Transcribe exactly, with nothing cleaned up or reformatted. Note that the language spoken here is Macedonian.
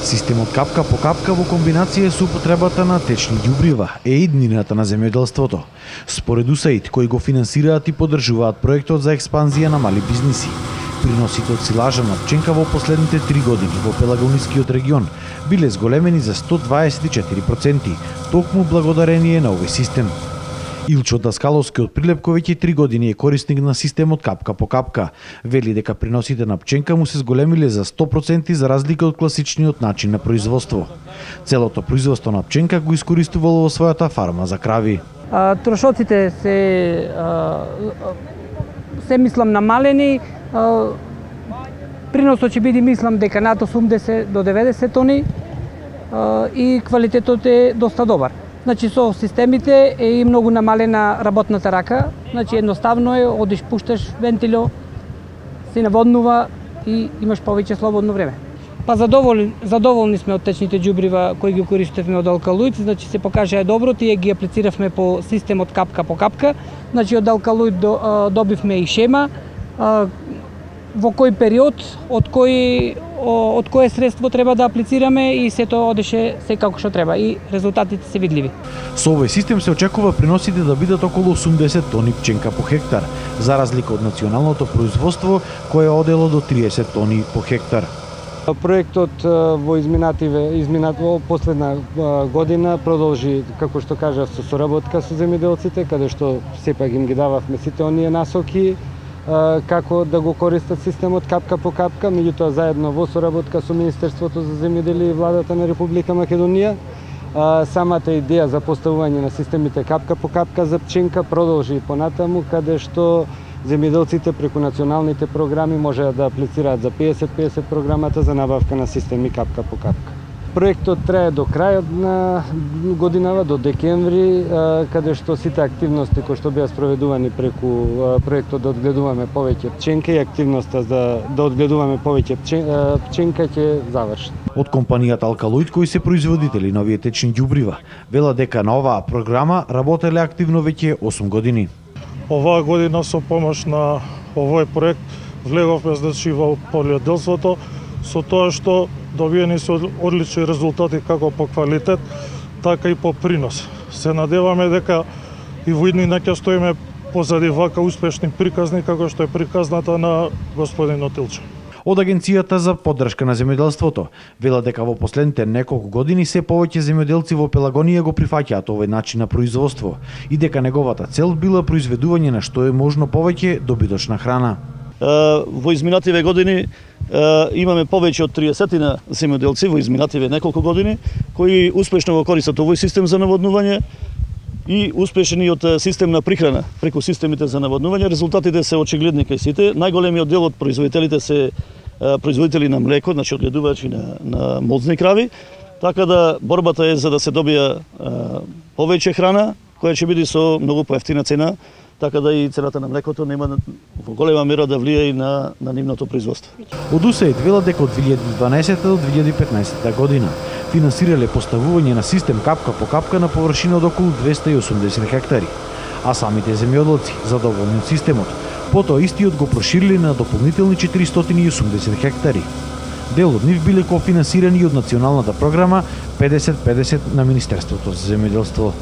Системот капка по капка во комбинација со употребата на течни ѓубрива е иднината на земјоделството. Според ю ес ей ай ди, кои го финансираат и поддржуваат проектот за експанзија на мали бизниси, приносите од силажа на пченка во последните три години во Пелагонискиот регион биле зголемени за сто дваесет и четири проценти, токму благодарение на овој систем. Илчо Даскаловски од Прилепко веќе три години е корисник на системот капка по капка. Вели дека приносите на пченка му се зголемиле за сто проценти за разлика од класичниот начин на производство. Целото производство на пченка го искористувало во својата фарма за крави. А, трошоците се а, се мислам намалени. А, приносот ќе биде мислам дека над осумдесет до деветдесет тони а, и квалитетот е доста добар. Значи со системите е и многу намалена работната рака, значи едноставно е, одиш, пушташ вентило, се наводнува и имаш повеќе слободно време. Па задоволни, задоволни сме од течните ѓубрива кои ги користевме од Алкалоид, значи се покажаа добро, тие ги аплициравме по системот капка по капка, значи од Алкалоид до, а, добивме и шема, а, во кој период, од кој од кое средство треба да аплицираме и сето одеше секако што треба и резултатите се видливи. Со овој систем се очекува приносите да бидат околу осумдесет тони пченка по хектар, за разлика од националното производство кое одело до триесет тони по хектар. Проектот во изминативе, изминат во последна година продолжи, како што кажав, со соработка со земјоделците, каде што сепак им ги дававме сите оние насоки како да го користат системот капка по капка, меѓутоа заедно во соработка со Министерството за земјоделие и владата на Република Македонија. Самата идеја за поставување на системите капка по капка за пченка продолжи и понатаму, каде што земјоделците преку националните програми можеа да аплицираат за песет песет програмата за набавка на системи капка по капка. Проектот трае до крајот на годинава, до декември, каде што сите активности кои што беа спроведувани преку проектот да одгледуваме повеќе пченка и активноста за да одгледуваме повеќе пченка ќе заврши. Од компанијата Алкалоид, кои се производители на овие течни ѓубрива, велат дека на оваа програма работеле активно веќе осум години. Оваа година со помош на овој проект влеговме значи во полјоделството, со тоа што добиени се одлични резултати како по квалитет, така и по принос. Се надеваме дека и во иднина ќе стоиме позади вака успешни приказни како што е приказната на господин Илчо. Од Агенцијата за поддршка на земјоделството велат дека во последните неколку години се повеќе земјоделци во Пелагонија го прифаќаат овој начин на производство и дека неговата цел била произведување на што е можно повеќе добиточна храна. Во изминативе години имаме повеќе од триесет земјоделци во изминативе неколку години кои успешно го користат овој систем за наводнување и успешни од систем на прихрана преку системите за наводнување. Резултатите се очигледни кај сите. Најголемиот дел од производителите се производители на млеко, значи одгледувачи на, на молзни крави, така да борбата е за да се добија повеќе храна која ќе биде со многу поевтина цена, така да и цената на млекото нема во голема мера да влие и на, на нивното производство. Од ю ес ей ай ди велат дека од две илјади и дванаесетта до две илјади и петнаесетта година финансирале поставување на систем капка по капка на површина од околу двесте и осумдесет хектари, а самите земјоделци задоволни од системот, потоа истиот го прошириле на дополнителни четиристотини и осумдесет хектари. Дел од нив биле кофинансирани од националната програма педесет педесет на Министерството за земјоделство.